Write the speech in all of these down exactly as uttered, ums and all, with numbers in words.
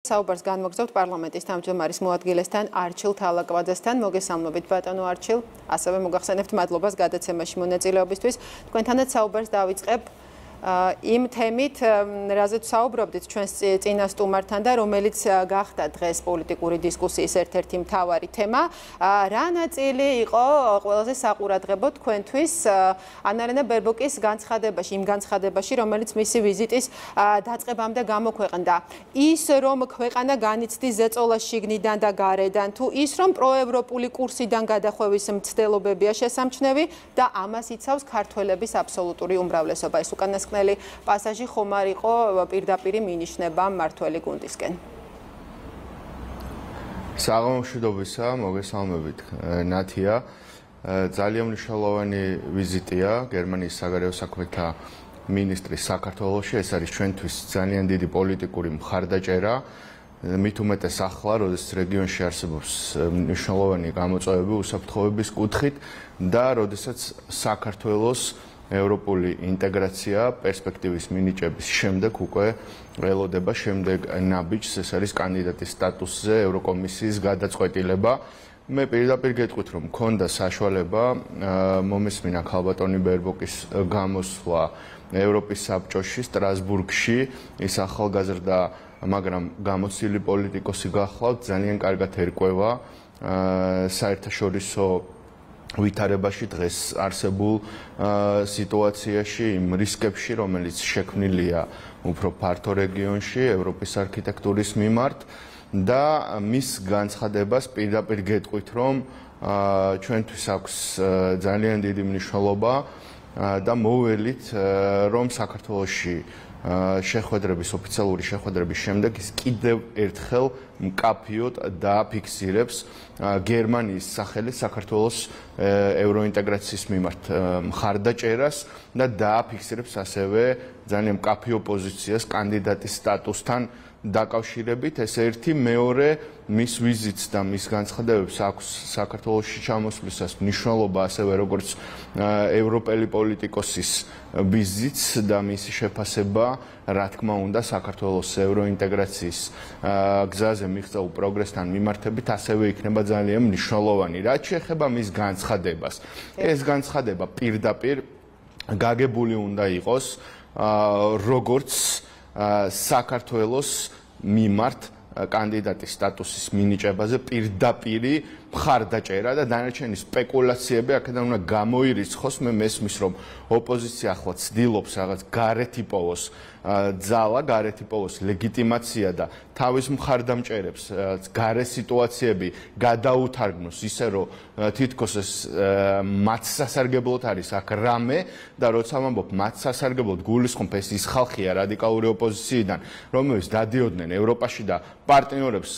საუბარს განმოგზავნებთ პარლამენტის თავმჯდომარის მოადგილესთან არჩილ თალაკვაძესთან. მოგესალმებით ბატონო არჩილ, ასევე მოგახსენებთ მადლობას გადაცემაში მონაწილეობისთვის. თქვენთანაც საუბარს დავიწყებ იმ თემით, რაზეც საუბრობდით ჩვენს წინა სტუმართან და რომელიც გახდა დღეს პოლიტიკური დისკუსიის ერთ-ერთი მთავარი თემა. რა ნაწილი იყო ყველაზე საყურადღებო თქვენთვის ანარენა ბერბოკის განცხადებაში, იმ განცხადებაში, რომელიც მისი ვიზიტის დაწყებამდე გამოქვეყნდა. ის, რომ ქვეყანა განიცდის ზეწოლას შიგნიდან და გარედან, თუ ის, რომ პროევროპული კურსიდან გადახვევის მცდელობებია შესამჩნევი და ამას იცავს ქართველების აბსოლუტური უმრავლესობა. ეს უკანასკნელი პასაჟი ხომ არ იყო პირდაპირ მინიშნება მმართველი გუნდისკენ. საღამომშვიდობისა, მოგესალმებით ნათია. ძალიან მნიშვნელოვანი ვიზიტია გერმანიის საგარეო საქმეთა მინისტრის საქართველოში. ეს არის ჩვენთვის ძალიან დიდი პოლიტიკური მხარდაჭერა. მით უმეტეს ახლა, როდესაც რეგიონში არსებობს მნიშვნელოვანი გამოწვევები უსაფრთხოების კუთხით და როდესაც საქართველოს ევროპული ინტეგრაცია პერსპექტივის მინიჭების შემდეგ უკვე ველოდება შემდეგ ნაბიჯს, ეს არის კანდიდატის სტატუსზე ევროკომისიის გადაწყვეტილება. მე პირდაპირ გეტყვით, რომ მქონდა საშუალება მომესმინა ქალბატონი ბერბოკის გამოსვლა ევროპის საბჭოში სტრასბურგში. ის ახალგაზრდა, მაგრამ გამოცდილი პოლიტიკოსი გახლავთ, ძალიან კარგად ერკვევა საერთაშორისო ვითარებაში დღეს არსებულ სიტუაციაში, იმ რისკებში, რომელიც შექმნილია უფრო ფართო რეგიონში ევროპის არქიტექტურის მიმართ და მის განცხადებას პირდაპირ გეტყვით, რომ ჩვენთვის აქვს ძალიან დიდი მნიშვნელობა და მოველით, რომ საქართველოში შეხვედრების ოფიციალური შეხვედრების შემდეგ ის კიდევ ერთხელ მკაფიოდ დააფიქსირებს გერმანიის სახელით საქართველოს ევროინტეგრაციის მიმართ მხარდაჭერას და დააფიქსირებს ასევე ძალიან მკაფიო პოზიციას კანდიდატის სტატუსთან დაკავშირებით. ეს ერთი, მეორე, მის ვიზიტს და მის განცხადებებს აქვს საქართველოში ჩამოსვლისას მნიშვნელობა ასევე როგორც ევროპელი პოლიტიკოსის ვიზიტს და მისი შეფასება, რა თქმა უნდა, საქართველოს ევროინტეგრაციის გზაზე მიღწეულ პროგრესთან მიმართებით ასევე იქნება ძალიან მნიშვნელოვანი. რაც შეეხება მის განცხადებას, ეს განცხადება პირდაპირ გაგებული უნდა იყოს როგორც საქართველოს მიმართ კანდიდატის სტატუსის მინიჭებაზე პირდაპირი მხარდაჭერა და დანარჩენი სპეკულაციები აქედან უნდა გამოირიცხოს. მე მესმის, რომ ოპოზიცია ახლა ცდილობს რაღაც გარეთ იპოვოს ძალა, გარეთ იპოვოს ლეგიტიმაცია და თავის მხარდამჭერებს გარე სიტუაციები გადაუთარგნოს ისე, რომ თითქოს ეს მათ სასარგებლოდ არის აქ რამე და როცა ვამბობ მათ სასარგებლოდ, გულისხმობ ეს ის ხალხია რადიკალური ოპოზიციიდან, რომლებიც დადიოდნენ ევროპაში და პარტნიორებს,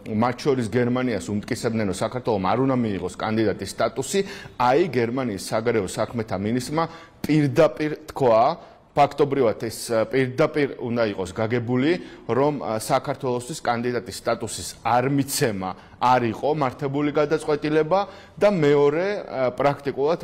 მათ შორის გერმანიას უმტკიცებდნენ, რომ საქართველოს არ უნდა მიიღოს კანდიდატის სტატუსი. აი გერმანიის საგარეო საქმეთა მინისტრმა პირდაპირ თქვა, ფაქტობრივად ეს პირდაპირ უნდა იყოს გაგებული, რომ საქართველოსთვის კანდიდატის სტატუსის არ მიცემა არ იყო მართებული გადაწყვეტილება და მეორე, პრაქტიკულად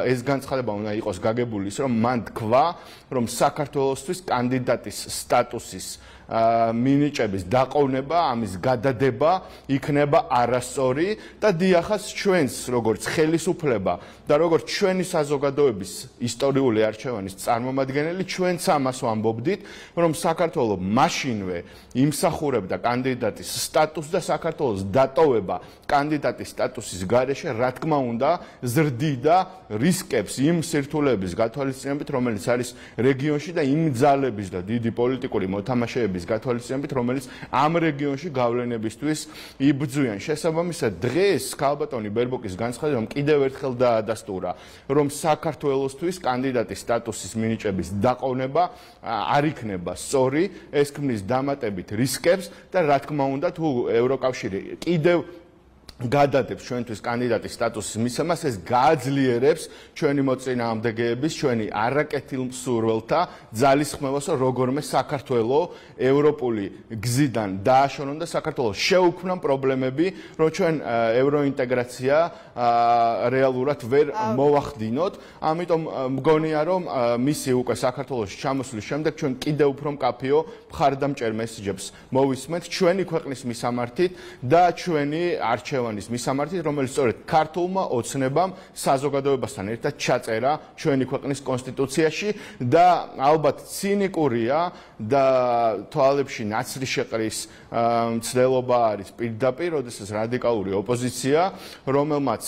ეს განცხადება უნდა იყოს გაგებული ის, რომ მან თქვა, რომ საქართველოსთვის კანდიდატის სტატუსის მინიჭების დაყოვნება, ამის გადადება იქნება არასწორი და დიახაც ჩვენს როგორც ხელისუფლება და როგორც ჩვენი საზოგადოების ისტორიული არჩევანის წარმომადგენელი, ჩვენც ამას ვამბობდით, რომ საქართველოს მაშინვე იმსახურებდა კანდიდატის სტატუსს და საქართველოს დატოვება კანდიდატის სტატუსის გარეშე, რა თქმა უნდა, ზრდიდა რისკებს იმ სირთულეების გათვალისწინებით, რომელიც არის რეგიონში და იმ ძალების და დიდი პოლიტიკური მოთამაშეების გათვალისწინებით, რომელიც ამ რეგიონში გავლენებისთვის იბრძვიან. შესაბამისად, დღეს ქალბატონი ბერბოკის განცხადებამ კიდევ ერთხელ დაადასტურა, რომ საქართველოსთვის კანდიდატის სტატუსის მინიჭების დაყოვნება არ იქნება სწორი, ეს ქმნის დამატებით რისკებს და რა თქმა უნდა, თუ ევროკავშირი კიდევ გადადებს ჩვენთვის კანდიდატის სტატუსის მისცემას, ეს გააძლიერებს ჩვენი მოწინააღმდეგეების, ჩვენი არაკეთილ მსურველთა ძალისხმევას, რომ როგორმე საქართველოს ევროპული გზიდან დააშორონ და საქართველოს შეუქმნან პრობლემები, რომ ჩვენ ევროინტეგრაცია რეალურად ვერ მოვახდინოთ. ამიტომ მგონია, რომ მისი უკვე საქართველოში ჩამოსვლის შემდეგ ჩვენ კიდევ უფრო მკაფიო მხარდამჭერ მესიჯებს მოვისმენთ ჩვენი ქვეყნის მისამართით და ჩვენი არჩევანის მისამართით, რომელიც სწორედ ქართულმა ოცნებამ საზოგადოებასთან ერთად ჩაწერა ჩვენი ქვეყნის კონსტიტუციაში და ალბათ ცინიკურია და თვალებში ნაცრი შეყრის მცდელობა არის პირდაპირ, როდესაც რადიკალური ოპოზიცია, რომელმაც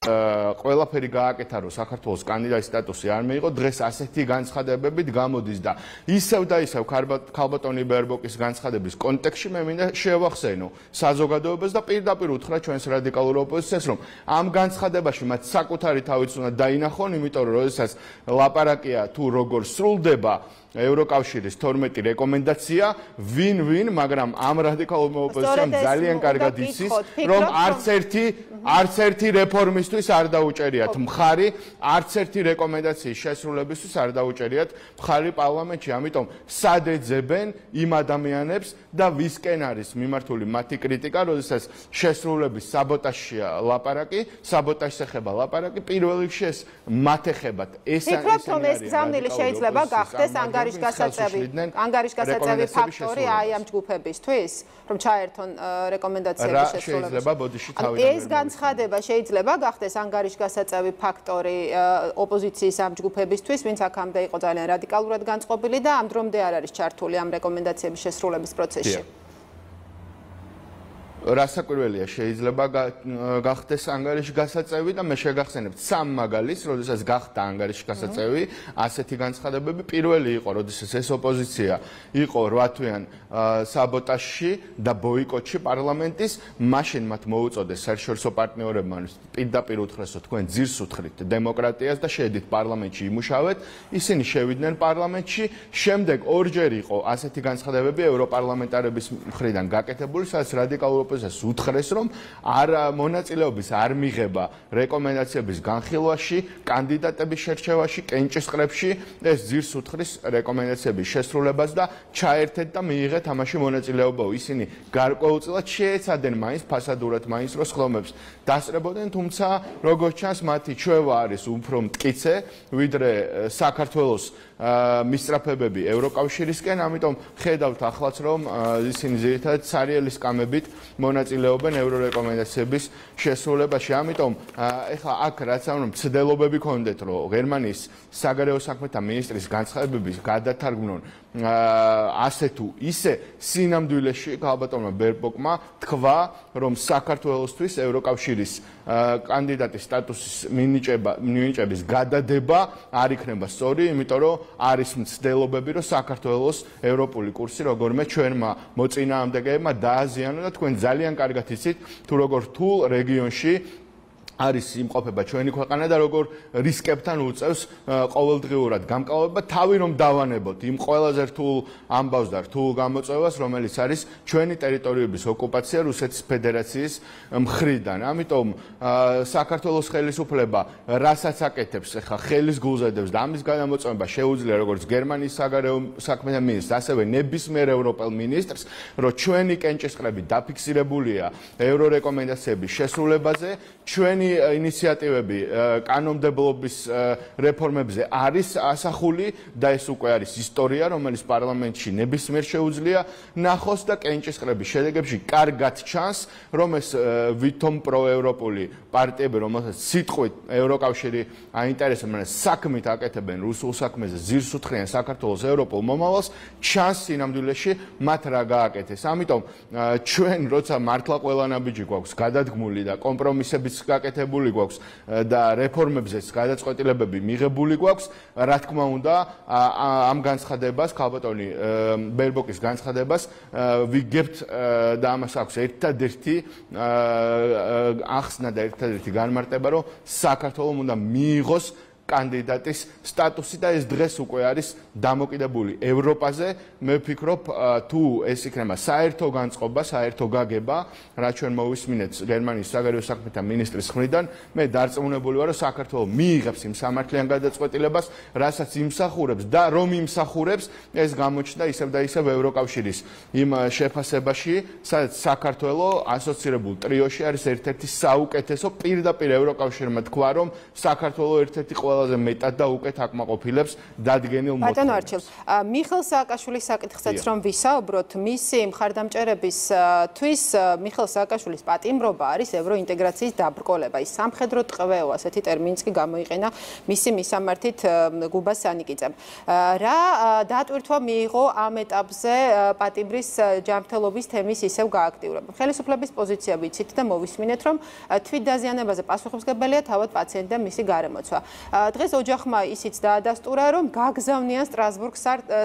ყველაფერი გააკეთა, რომ საქართველოს კანდიდატის სტატუსი არ მიიღო, დღეს ასეთი განცხადებებით გამოდის და ისევ და ისევ ქალბატონი ბერბოკის განცხადების კონტექსტში მე მინდა შევახსენო საზოგადოებას და პირდაპირ უთხრა ჩვენს რადიკალურ ოპოზიციას, რომ ამ განცხადებაში მათ საკუთარი თავიც უნდა დაინახონ, იმიტომ რომ როდესაც ლაპარაკია თუ როგორ სრულდება ევროკავშირის თორმეტი რეკომენდაცია, ვინ-ვინ, მაგრამ ამ რადიკალურ ოპოზიციამ ძალიან კარგად იცის, რომ არც ერთი არც ერთი რეფორმისტვის არ დაუჭერიათ მხარი, არც ერთი რეკომენდაციის შესრულებისთვის არ დაუჭერიათ მხარი პარლამენტში, ამიტომ სად ეძებენ იმ ადამიანებს და ვისკენ არის მიმართული მათი კრიტიკა, როდესაც შესრულების საბოტაჟია ლაპარაკი, საბოტაჟს ეხება ლაპარაკი, პირველ რიგში ეს მათ ეხებათ. ეს ფიქრობთ, რომ ეს გზავნილი შეიძლება გახდეს ანგარიშგასაწევი ანგარიშგასაწევი ფაქტორი აი ამ ჯგუფებისთვის, რომ ჩაერთონ რეკომენდაციების შესრულებას. ეს განცხადება შეიძლება გახდეს ანგარიშგასაწევი ფაქტორი ოპოზიციის ამ ჯგუფებისთვის, ვინც აქამდე იყო ძალიან რადიკალურად განწყობილი და ამ დრომდე არ არის ჩართული ამ რეკომენდაციების შესრულების პროცესში. რასაკვირველია, შეიძლება გახდეს ანგარიშგასაწევი და მე შეგახსენებთ სამ მაგალითს, როდესაც გახდა ანგარიშგასაწევი ასეთი განცხადებები. პირველი იყო, როდესაც ეს ოპოზიცია იყო რვა თვიან საბოტაჟში და ბოიკოტში პარლამენტის, მაშინ მათ მოუწოდეს საერთაშორისო პარტნიორებმა პირდაპირ უთხრესო თქვენ ძირს უთხრით დემოკრატიას და შედით პარლამენტში იმუშავეთ, ისინი შევიდნენ პარლამენტში, შემდეგ ორჯერ იყო ასეთი განცხადებები ევროპარლამენტარების მხრიდან გაკეთებული, სადაც რადიკალურ ოპოზიციას უთხრეს, რომ არ მონაწილეობის არ მიიღება რეკომენდაციების განხილვაში, კანდიდატების შერჩევაში, კენჭისყრებში, ეს ძირს უთხრეს რეკომენდაციების შესრულებას და ჩაერთეთ და მიიღეთ ამაში მონაწილეობა. ისინი გარკვეულწილად შეეცადნენ მაინც ფასადურად მაინც რო სხდომებს დასწრებოდნენ, თუმცა როგორც ჩანს მათი ჩვევა არის უფრო მტკიცე, ვიდრე საქართველოს მისწრაფებები ევროკავშირისკენ, ამიტომ ხედავთ ახლაც, რომ ისინი ძირითადად სარიელი სკამებით მონაწილეობენ ევრორეკომენდაციების შესრულებაში. ამიტომ ეხლა აქ რაც ამ მცდელობები ქონდეთ, რომ გერმანიის საგარეო საქმეთა მინისტრის განცხადებები გადათარგმნონ ასე თუ ისე, სინამდვილეში ქალბატონმა ბერბოკმა თქვა, რომ საქართველოსთვის ევროკავშირის კანდიდატის სტატუსის მინიჭების გადადება არ იქნება სწორი, იმიტომ რომ არის მცდელობები, რომ საქართველოს ევროპული კურსი როგორმე ჩვენმა მოწინააღმდეგეებმა დააზიანო და თქვენ ძალიან კარგად იცით, თუ როგორ რთულ რეგიონში არის იმყოფება ჩვენი ქვეყანა და როგორ რისკებთან უწევს ყოველდღიურად გამკლავება, თავი რომ დავანებოთ იმ ყველაზე რთულ ამბავს და რთულ გამოწვევას, რომელიც არის ჩვენი ტერიტორიების ოკუპაცია რუსეთის ფედერაციის მხრიდან. ამიტომ საქართველოს ხელისუფლება რასაც აკეთებს, ეხლა ხელის გულზადებს და ამის გადამოწმება შეუძლია როგორც გერმანიის საგარეო საქმეთა მინისტრს, ასევე ნებისმიერ ევროპელ მინისტრს, რომ ჩვენი კენჭისყრები დაფიქსირებულია ევრორეკომენდაციების შესრულებაზე, ჩვენი ინიციატივები კანონმდებლობის რეფორმებზე არის ასახული და ეს უკვე არის ისტორია, რომელიც პარლამენტში ნებისმიერ შეუძლია ნახოს და კენჭისყრების შედეგებში კარგად ჩანს, რომ ეს ვითომ პროევროპული პარტიები, რომელსაც სიტყვით ევროკავშირი აინტერესებს, მაგრამ საქმით აკეთებენ რუსულ საქმეზე, ძირს უთხრიან საქართველოს ევროპულ მომავალს, ჩანს სინამდვილეში მათ რა გააკეთეს. ამიტომ ჩვენ როცა მართლა ყველა ნაბიჯი გვაქვს გადადგმული და კომპრომისებიც გაკეთებული გვაქვს და რეფორმებზეც გადაწყვეტილებები მიღებული გვაქვს, რა თქმა უნდა, ამ განცხადებას, ქალბატონი ბერბოკის განცხადებას ვიგებთ და ამას აქვს ერთადერთი ახსნა და ერთადერთი განმარტება, რომ საქართველოს უნდა მიიღოს კანდიდატის სტატუსი და ეს დღეს უკვე არის დამოკიდებული ევროპაზე. მე ვფიქრობ, თუ ეს იქნება საერთო განწყობა, საერთო გაგება, რაც ჩვენ მოვისმინეთ გერმანიის საგარეო საქმეთა მინისტრის მხრიდან, მე დარწმუნებული ვარ, რომ საქართველოს მიიღებს იმ სამართლიან გადაწყვეტილებას, რასაც იმსახურებს და რომ იმსახურებს, ეს გამოჩნდა ისევ და ისევ ევროკავშირის იმ შეფასებაში, სადაც საქართველოს ასოცირებულ ტრიოში არის ერთ-ერთი საუკეთესო, პირდაპირ ევროკავშირმა თქვა, რომ საქართველოს ერთ-ერთი ყველაზე მეტად და უკეთ აკმაყოფილებს დადგენილ მოთხოვნებს. ბატონო არჩილ, მიხეილ სააკაშვილის საკითხსაც რომ ვისაუბროთ, მისი მხარდამჭერებისთვის მიხეილ სააკაშვილის პატიმრობა არის ევროინტეგრაციის დაბრკოლება. ის სამხედრო ტყვეო, ასეთი ტერმინიც კი გამოიყენა მისი მისამართით გუბას სანიკიძემ. რა დატვირთვა მიიღო ამ ეტაპზე პატიმრის ჯანმრთელობის თემის ისევ გააქტიურება? ხელისუფლების პოზიცია ვიცით და მოვისმინეთ, რომ თვითდაზიანებაზე პასუხისმგებელია თავად პაციენტი და მისი გარემოცვა. დღეს ოჯახმა ისიც დაადასტურა, რომ გაგზავნიან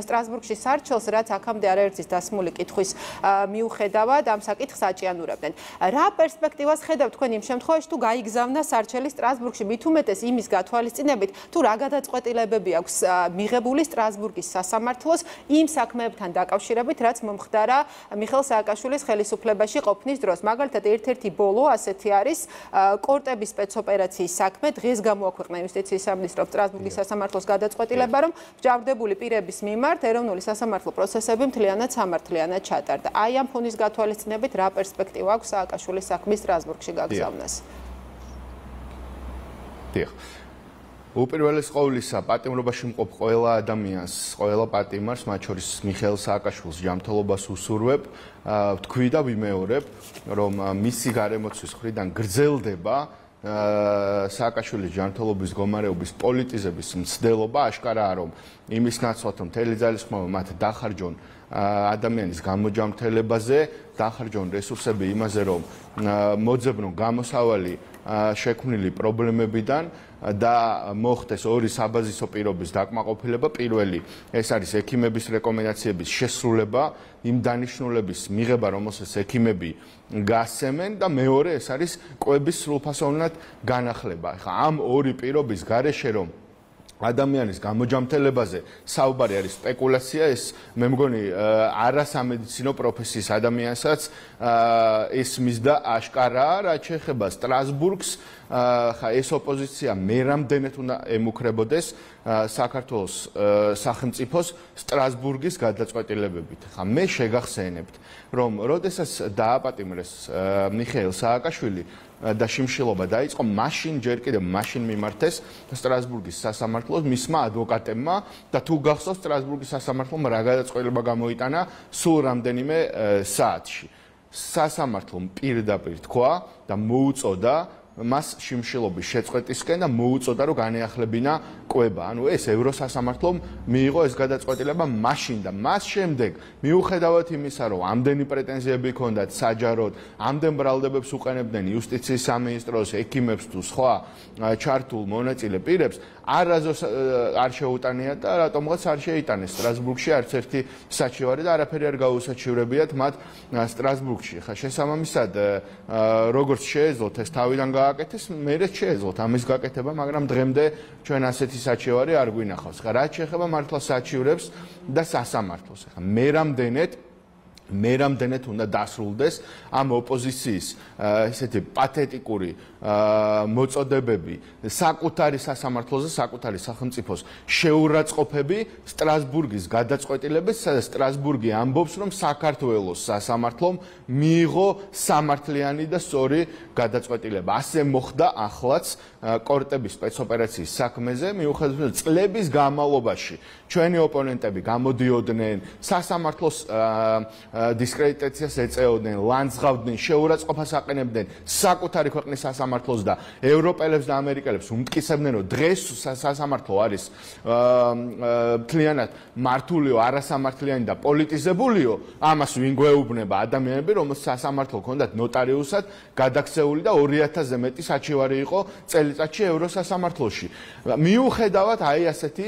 სტრასბურგში სარჩელს, რაც აქამდე არაერთის დასმული კითხვის მიუხედავად ამ საკითხს აჭიანურებდნენ. რა პერსპექტივას ხედავთ თქვენ იმ შემთხვევაში, თუ გაიგზავნა სარჩელი სტრასბურგში, მით უმეტეს იმის გათვალისწინებით, თუ რა გადაწყვეტილებები აქვს მიღებული სტრასბურგის სასამართლოს იმ საქმეებთან დაკავშირებით, რაც მომხდარა მიხეილ სააკაშვილის ხელისუფლებაში ყოფნის დროს. მაგალითად, ერთ-ერთი ბოლო ასეთი არის კორტების სპეცოპერაციის საქმე. დღეს გამოაქვეყნა იუსტიციის სამინისტრომ სტრასბურგის სასამართლოს გადაწყვეტილება, რომ მსჯავრდებული პირების მიმართ ეროვნული სასამართლო პროცესები მთლიანად სამართლიანად ჩატარდა. აი ამ ფონის გათვალისწინებით რა პერსპექტივა აქვს სააკაშვილის საქმის სტრასბურგში გაგზავნას? დიახ. უპირველეს ყოვლისა, პატიმრობაში მყოფ ყველა ადამიანს, ყველა პატიმარს, მათ შორის მიხეილ სააკაშვილს ჯანმრთელობას უსურვებ, ვთქვი და ვიმეორებ, რომ მისი გარემოცვის მხრიდან გრძელდება სააკაშვილის ჯანმრთელობის მდგომარეობის პოლიტიზების მცდელობა. აშკარაა, რომ იმის ნაცვლად, რომ მთელი ძალისხმევა მათ დახარჯონ ადამიანის გამოჯანმრთელებაზე, დახარჯონ რესურსები იმაზე, რომ მოძებნონ გამოსავალი შექმნილი პრობლემებიდან და მოხდეს ორი საბაზისო პირობის დაკმაყოფილება. პირველი, ეს არის ექიმების რეკომენდაციების შესრულება, იმ დანიშნულების მიღება, რომელსაც ექიმები გასცემენ და მეორე, ეს არის კვების სრულფასოვნად განახლება. ხა ამ ორი პირობის გარეშე რომ ადამიანის გამოჯანმრთელებაზე საუბარი არის სპეკულაცია, ეს მე მგონი არასამედიცინო პროფესიის ადამიანსაც ეს მისდა აშკარაა, რაც შეეხება სტრასბურგს. ხა ეს ოპოზიცია მე რამდენად უნდა ემუქრებოდეს საქართველოს სახელმწიფოს სტრასბურგის გადაწყვეტილებებით. ხა მე შეგახსენებთ, რომ როდესაც დააპატიმრეს მიხეილ სააკაშვილი და შიმშილობა დაიწყო, მაშინ ჯერ კიდევ მაშინ მიმართეს სტრასბურგის სასამართლოს მისმა ადვოკატებმა და თუ გახსოვთ სტრასბურგის სასამართლომ რა გადაწყვეტილება გამოიტანა სულ რამდენიმე საათში. სასამართლომ პირდაპირ თქვა და მოუწოდა მას შიმშილობის შეწყვეტისკენ და მოუწოდა, რომ განეახლებინა კვება. ანუ ეს ევროსასამართლომ მიიღო ეს გადაწყვეტილება მაშინ და მას შემდეგ, მიუხედავად იმისა, რომ ამდენი პრეტენზიები ჰქონდათ საჯაროდ, ამდენ ბრალდებებს უყენებდნენ იუსტიციის სამინისტროს, ექიმებს თუ სხვა ჩართულ მონაწილე პირებს, არაზოს არ შეუტანიათ და რატომღაც არ შეიტანეს სტრასბურგში არც ერთი საჩივარი და არაფერი არ გაუსაჩივრებიათ მათ სტრასბურგში. ხა შესაბამისად, როგორც შეეძლოთ ეს თავიდან გააკეთეს, მერეც შეეძლოთ ამის გაკეთება, მაგრამ დღემდე ჩვენ ასეთი საჩივარი არ გვინახავს. ხა რაც შეეხება მართლა საჩივრებს და სასამართლოს. ხა მე რამდენად მე რამდენად უნდა დასრულდეს ამ ოპოზიციის ესეთი პათეტიკური მოწოდებები საკუთარი სასამართლოზე, საკუთარი სახელმწიფოს შეურაცხყოფები სტრასბურგის გადაწყვეტილებით, სადაც სტრასბურგი ამბობს, რომ საქართველოს სასამართლომ მიიღო სამართლიანი და სწორი გადაწყვეტილება. ასე მოხდა ახლაც კორტების სპეცოპერაციის საქმეზე, მიუხედავად წლების განმავლობაში ჩვენი ოპონენტები გამოდიოდნენ სასამართლოს დისკრედიტაციას ეწეოდნენ, ლანძღავდნენ, შეურაცხყოფას აყენებდნენ საკუთარი ქვეყნის სასამართლოს და ევროპელებს და ამერიკელებს უმტკიცებდნენ, რომ დღეს სასამართლო არის მთლიანად მართულიო, არასამართლიანი და პოლიტიზებულიო. ამას ვინ გვეუბნება? ადამიანები, რომელსაც სასამართლო ჰქონდათ ნოტარიუსად გადაქცეული და ორი ათასზე მეტი საჩივარი იყო წელიწადში ევროსასამართლოში. მიუხედავად აი ასეთი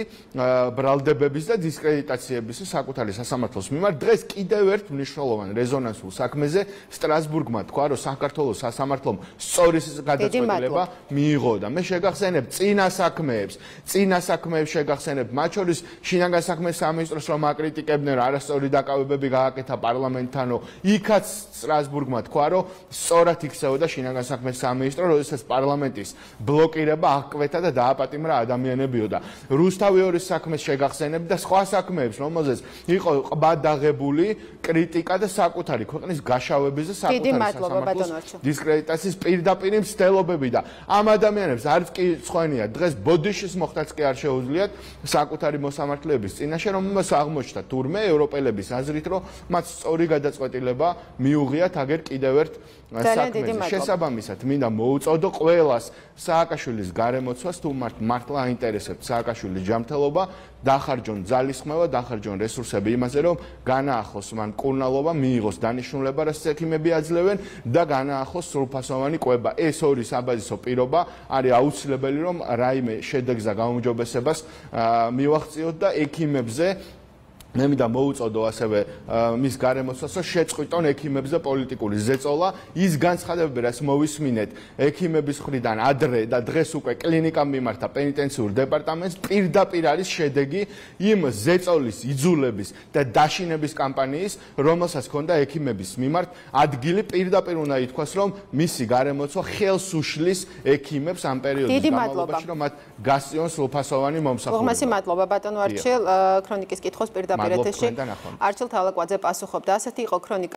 ბრალდებების და დისკრედიტაციების საკუთარი სასამართლოს მიმართ, დღეს კიდევ ერთ მნიშვნელოვან რეზონანსულ საქმეზე სტრასბურგმა თქვა, რომ საქართველოს სასამართლომ სწორი გადაწყვეტილება მიიღო და მე შეგახსენებ წინა საქმეებს, წინა საქმეებს შეგახსენებ, მათ შორის შინაგან საქმეთა სამინისტროს რომ აკრიტიკებდნენ, რომ არასწორი დაკავებები გააკეთა პარლამენტთანო, იქაც სტრასბურგმა თქვა, რომ სწორად იქცეოდა შინაგან საქმეთა სამინისტრო, როდესაც პარლამენტის ბლოკირება აღკვეთა და დააპატიმრა ადამიანებიო და რუსთავი ორის საქმეს შეგახსენებ და სხვა საქმეებს, რომელზეც იყო ყბადაღებული კრიტიკა და საკუთარი ქვეყნის გაშავების და საკუთარი სასამართლოს დისკრედიტაციის პირდაპირ მცდელობები და ამ ადამიანებს არც კი სხვენია დღეს ბოდიშის მოხდაც კი არ შეუძლიათ საკუთარი მოსამართლეების წინაშე, რომელმაც აღმოჩნდა თურმე ევროპელების აზრით, რომ მათ სწორი გადაწყვეტილება მიუღიათ აგერ კიდევ ერთ საქმეზე. შესაბამისად, მინდა მოუწოდო ყველას სააკაშვილის გარემოცვას, თუ მართლა აინტერესებთ სააკაშვილის ჯანმრთელობა, დახარჯონ ძალისხმევა, დახარჯონ რესურსები იმაზე, რომ განაახოს მან კურნალობა, მიიღოს დანიშნულება, რასაც ექიმები აძლევენ და განაახოს სრულფასოვანი კვება. ეს ორი საბაზისო პირობა არის აუცილებელი, რომ რაიმე შედეგს და გაუმჯობესებას მივახციოთ და ექიმებზე მე მინდა მოუწოდო ასევე მის გარემოცვას, რომ შეწყვიტონ ექიმებზე პოლიტიკური ზეწოლა, ის განცხადებები, რაც მოვისმინეთ ექიმების მხრიდან ადრე და დღეს უკვე კლინიკამ მიმართა პენიტენციურ დეპარტამენტს, პირდაპირ არის შედეგი იმ ზეწოლის, იძულების და დაშინების კამპანიის, რომელსაც ჰქონდა ექიმების მიმართ ადგილი, პირდაპირ უნდა ითქვას, რომ მისი გარემოცვა ხელს უშლის ექიმებს ამ პერიოდის განმავლობაში, რომ მათ გასწიონ სრულფასოვანი მომსახურება. უღმესი მადლობა ბატონო არჩილ, ქრონიკის კითხოს პირდაპირ ეთერში არჩილ თალაკვაძე პასუხობდა. ასეთი იყო ქრონიკა.